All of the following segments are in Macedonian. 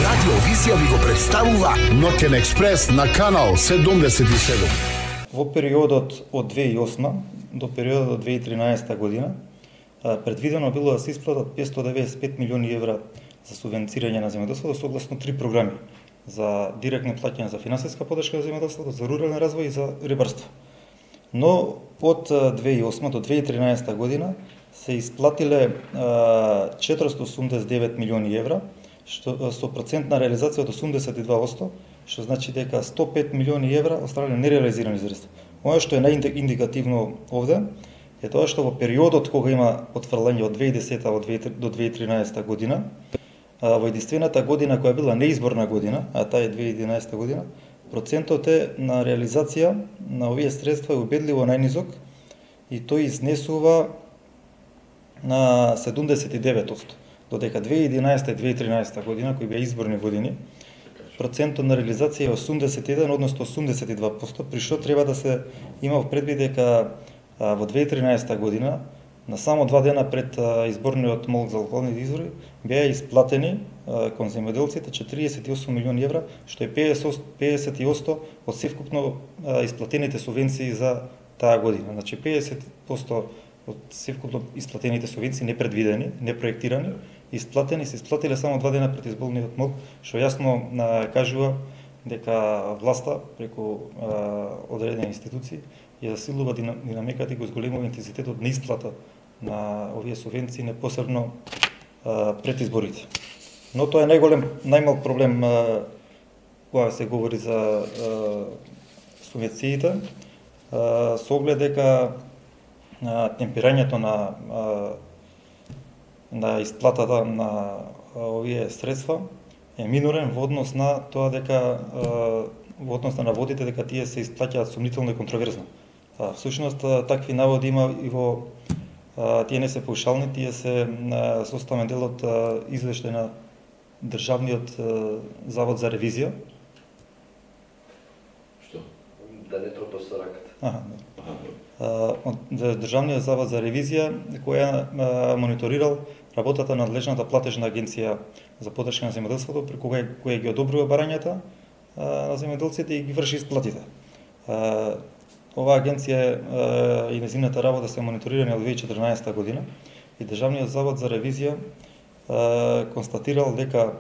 Радио Визија ви го представува Ноќен експрес на канал 77. Во периодот од 2008 до периодот од 2013 година предвидено било да се исплатат 595 милиони евра за субвенцирање на земјоделството согласно 3 програми за директни плаќања за финансиска поддршка за земјоделството, за рурален развој и за рибарство. Но од 2008 до 2013 година се исплатиле 489 милиони евра, што со процентна реализација од 82%, што значи дека 105 милиони евра останале нереализирани средства. Оно што е наиндикативно овде е тоа што во периодот кога има потврлање од 2010 до 2013 година, во единствената година која била неизборна година, а таа е 2011 година, процентот е на реализација на овие средства е убедливо најнизок и тој изнесува на 79%, додека 2011 и 2013 година, кои беа изборни години, процентот на реализација е 81, односно 82%, при што треба да се има в предвид дека во 2013 година, на само 2 дена пред изборниот молк за локалните избори, беа исплатени кон земјоделците 48 милиони евра, што е 50% од севкупно исплатените субвенции за таа година. Значи 50% од севкупно исплатените субвенции непредвидени, непроектирани, исплатени се исплатиле само 2 дена пред изборниот молк, што јасно кажува дека власта преку одредени институции ја засилува динамиката и го зголемува интензитетот на исплата на овие субвенции, непосредно пред изборите. Но тоа е најмал проблем кога се говори за субвенциите, со оглед дека темпирањето на исплатата на овие средства е минорен во однос на тоа дека во однос на наводите дека тие се исплаќаат сумнително и контроверзно. Всушност такви наводи има и во тие не се паушални, тие се составен дел од извештај на Државниот завод за ревизија. Што? Да не тропа со раката. Државниот завод за ревизија која мониторирал работата на надлежната платежна агенција за поддршка на земјоделството, преку која ги одобрува барањата на земјоделците и ги врши исплатите. Оваа агенција и нејзината работа се мониторирани од 2014 година и Државниот завод за ревизија констатирал дека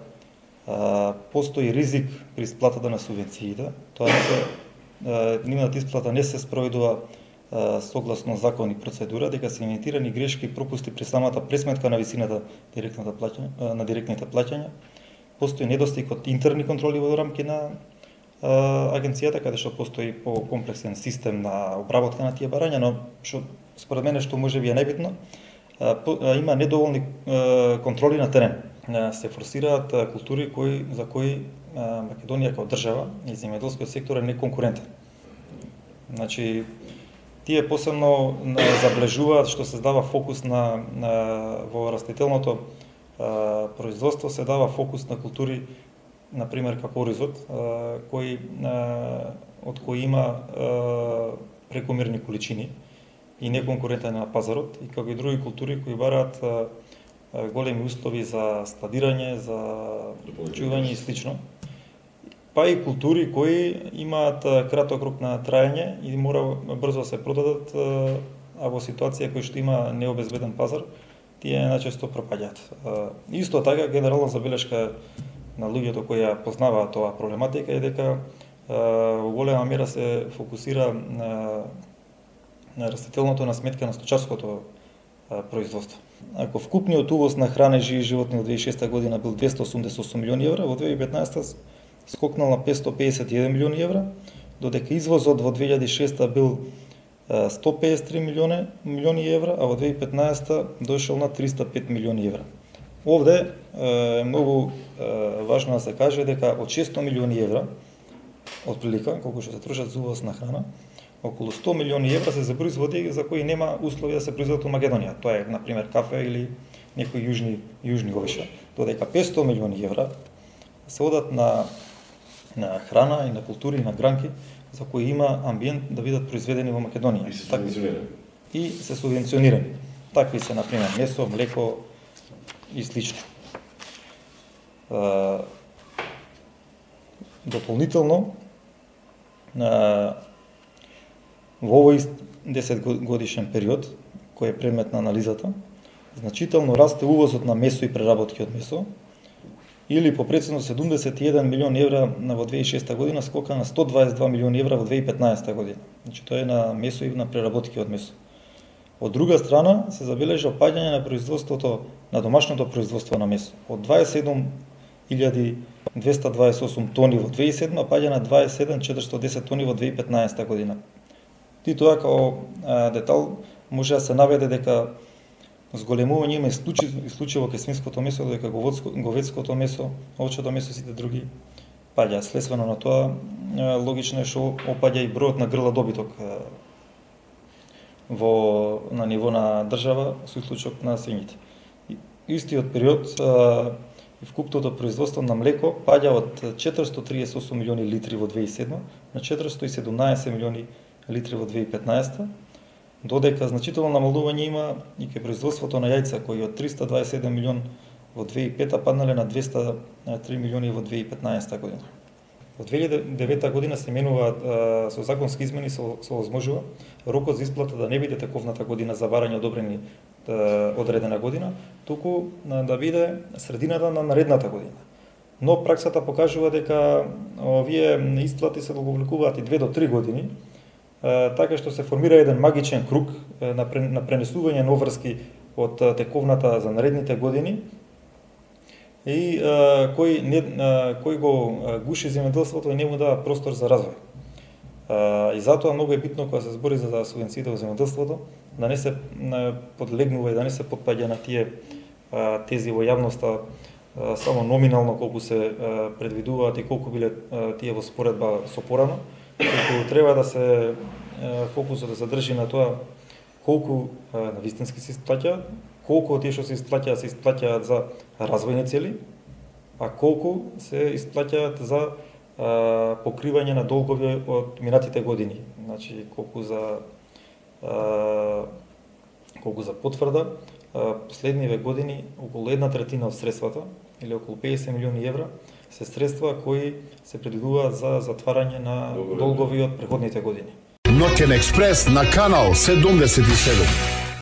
постои ризик при исплатата на субвенциите. Тоа нивната исплата не се спроведува согласно закон и процедура, дека се имитирани грешки и пропусти при самата пресметка на висината на директните плаќања. Постои недостиг од интерни контроли во рамки на агенцијата, каде што постои по-комплексен систем на обработка на тие барања, но што според мене што можеби е најбитно, има недоволни контроли на терен. Се форсираат култури за кои Македонија како држава и земјоделскиот сектор е неконкурентен. Значи, тие посебно заблежуваат што се дава фокус во растителното производство, се дава фокус на култури, например како оризот, од кои има прекомерни количини и неконкурентен на пазарот, и како и други култури кои бараат големи услови за складирање, за чување и слично. Па и култури кои имаат краток рок на траење и мора брзо да се продадат, а во ситуација кој што има необезбеден пазар, тие најчесто пропаѓаат. Исто така, генерална забелешка на луѓето кои ја познаваат оваа проблематика е дека во голема мера се фокусира на растителното на сметка на сточарското производство. Ако вкупниот увоз на храна и живи животни од 2006 година бил 288 милиони евра, во 2015 скокнал на 551 милиони евра, додека извозот во 2006 бил 153 милиони евра, а во 2015 дошол на 305 милиони евра. Овде е многу важно да се каже дека од 600 милиони евра, од прилика, колку што се трошат за увоз на храна, околу 100 милиони евра се за производи за кои нема услови да се произведат во Македонија. Тоа е, например, кафе или некои јужни овеша. Додека 500 милиони евра се одат на храна и на култури и на гранки за кои има амбиент да бидат произведени во Македонија. И се субвенционирани. Такви се, например, месо, млеко и слично. Дополнително, во овој 10 годишен период, кој е предмет на анализата, значително расте увозот на месо и преработки од месо, или по процено 71 милион евра во 2006 година скока на 122 милиони евра во 2015 година. Значи тоа е на месо и на преработки од месо. Од друга страна се забележа опаѓање на производството, на домашното производство на месо. Од 27.228 тони во 2007 паѓа на 27.410 тони во 2015 година. И тоа како детал може да се наведе дека зголемување има исклучиво кај свинското месо, додека говедското месо, овчето месо и сите други паѓаат. Следствено на тоа, логично е што опаѓа и бројот на грла добиток на ниво на држава со исклучок на свињите. Истиот период вкупното производство на млеко паѓа од 438 милиони литри во 2007 на 417 милиони литри во 2015, додека значително намалување има и кај производството на јајца, кои од 327 милион во 2005 паднале на 203 милиони во 2015 година. Во 2009 година се менува со законски измени се овозможува рокот за исплата да не биде тековната година за барање одобрени одредена година, туку да биде средината на наредната година. Но праксата покажува дека овие исплати се договлекуваат и 2 до 3 години, така што се формира еден магичен круг на пренесување на обврски од тековната за наредните години и кој го гуши земјоделството и не му дава простор за развој. И затоа многу е битно кога се збори за субвенциите во земјоделството да не се подлегнува и да не се потпаѓа на тие тези во јавноста само номинално колку се предвидуваат и колку биле тие во споредба со порано, колку треба да се фокусот да се држи на тоа колку навистински се исплаќаат, колку од тие што се исплаќаат за развојни цели, а колку се исплаќаат за покривање на долгови од минатите години. Значи колку за потврда, последниве години околу 1/3 од средствата или околу 50 милиони евра се средства кои се предвидуваат за затварање на долгови од претходните години. Ноќен експрес на канал 77.